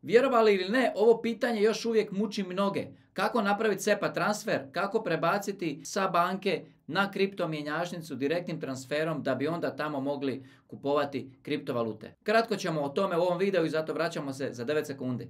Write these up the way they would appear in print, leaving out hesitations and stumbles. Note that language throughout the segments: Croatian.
Vjerovali ili ne, ovo pitanje još uvijek muči mnoge. Kako napraviti SEPA transfer, kako prebaciti sa banke na kripto mjenjačnicu direktnim transferom da bi onda tamo mogli kupovati kriptovalute. Kratko ćemo o tome u ovom videu i zato vraćamo se za 9 sekundi.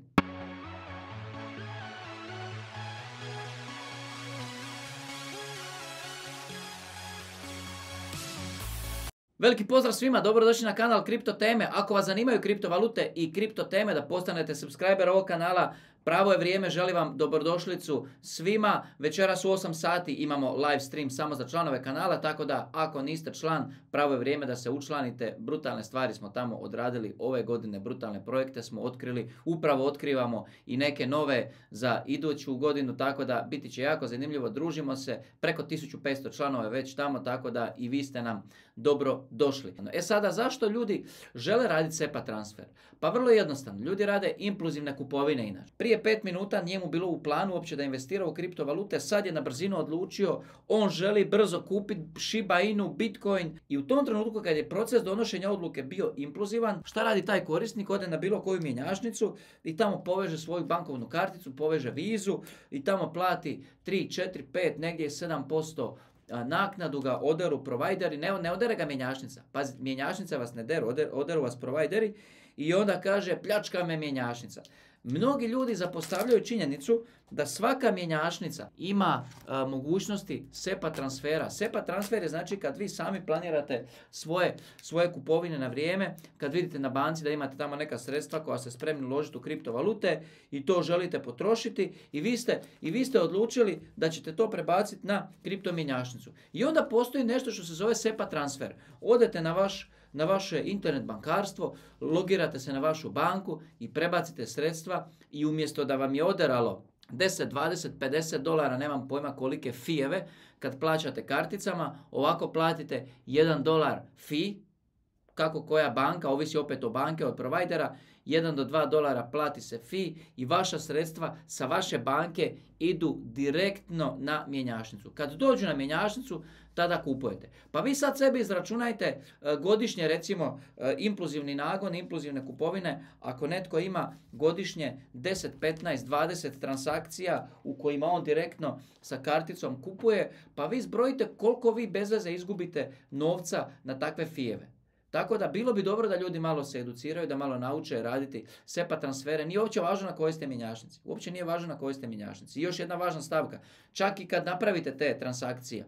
Veliki pozdrav svima, dobrodošli na kanal Kripto teme. Ako vas zanimaju kriptovalute i kripto teme, da postanete subscriber ovog kanala, pravo je vrijeme, želim vam dobrodošlicu svima. Večeras u 8 sati imamo live stream samo za članove kanala, tako da ako niste član, pravo je vrijeme da se učlanite. Brutalne stvari smo tamo odradili ove godine, brutalne projekte smo otkrili, upravo otkrivamo i neke nove za iduću godinu, tako da biti će jako zanimljivo. Družimo se, preko 1500 članova je već tamo, tako da i vi ste nam dobro došli. Sada, zašto ljudi žele raditi SEPA transfer? Pa vrlo jednostavno, ljudi rade impulzivne kupovine inače. Prije 5 minuta njemu bilo u planu uopće da investira u kriptovalute, sad je na brzinu odlučio, on želi brzo kupiti Shiba Inu, Bitcoin, i u tom trenutku kad je proces donošenja odluke bio impulzivan, šta radi taj korisnik? Ode na bilo koju mjenjačnicu i tamo poveže svoju bankovnu karticu, poveže vizu i tamo plati 3, 4, 5, negdje 7% naknadu, ga oderu provajderi, ne odere ga mjenjačnica. Pazi, mjenjačnica vas ne deru, oderu vas provajderi i onda kaže pljačka me mjenjačnica. Mnogi ljudi zapostavljaju činjenicu da svaka mjenjačnica ima mogućnosti SEPA transfera. SEPA transfer je znači kad vi sami planirate svoje kupovine na vrijeme, kad vidite na banci da imate tamo neka sredstva koja ste spremni uložiti u kriptovalute i to želite potrošiti i vi ste odlučili da ćete to prebaciti na kripto mjenjačnicu. I onda postoji nešto što se zove SEPA transfer. Odete na vaše internet bankarstvo, logirate se na vašu banku i prebacite sredstva i umjesto da vam je oderalo 10, 20, 50 dolara, nemam pojma kolike fijeve, kad plaćate karticama, ovako platite $1 fee, kako koja banka, ovisi opet o banke, od provajdera, 1 do 2 dolara plati se fee i vaša sredstva sa vaše banke idu direktno na mjenjačnicu. Kad dođu na mjenjačnicu, tada kupujete. Pa vi sad sebi izračunajte godišnje, recimo, impulzivni nagon, impulzivne kupovine. Ako netko ima godišnje 10, 15, 20 transakcija u kojima on direktno sa karticom kupuje, pa vi zbrojite koliko vi bez veze izgubite novca na takve fijeve. Tako da bilo bi dobro da ljudi malo se educiraju, da malo nauče raditi SEPA transfere. Nije uopće važno na kojoj ste mjenjačnici. Uopće nije važno na kojoj ste mjenjačnici. I još jedna važna stavka. Čak i kad napravite te transakcije,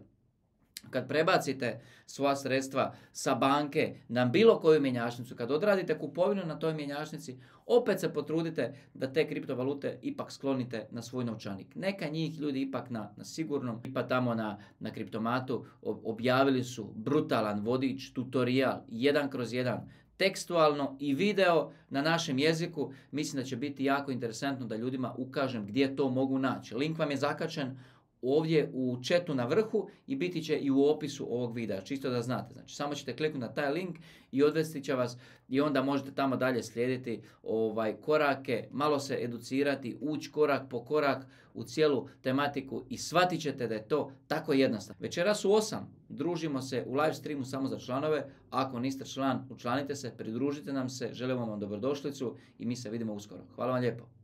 kad prebacite svoja sredstva sa banke na bilo koju mjenjačnicu, kad odradite kupovinu na toj mjenjačnici, opet se potrudite da te kriptovalute ipak sklonite na svoj novčanik. Neka njih ljudi ipak na sigurnom, ipak tamo na Kriptomatu objavili su brutalan vodič, tutorial, 1/1, tekstualno i video na našem jeziku. Mislim da će biti jako interesantno da ljudima ukažem gdje to mogu naći. Link vam je zakačen ovdje u chatu na vrhu i biti će i u opisu ovog videa, čisto da znate. Znači, samo ćete kliknuti na taj link i odvesti će vas i onda možete tamo dalje slijediti korake, malo se educirati, ući korak po korak u cijelu tematiku i shvatit ćete da je to tako jednostavno. Večeras u 8 družimo se u live streamu samo za članove. Ako niste član, učlanite se, pridružite nam se, želimo vam dobrodošlicu i mi se vidimo uskoro. Hvala vam lijepo.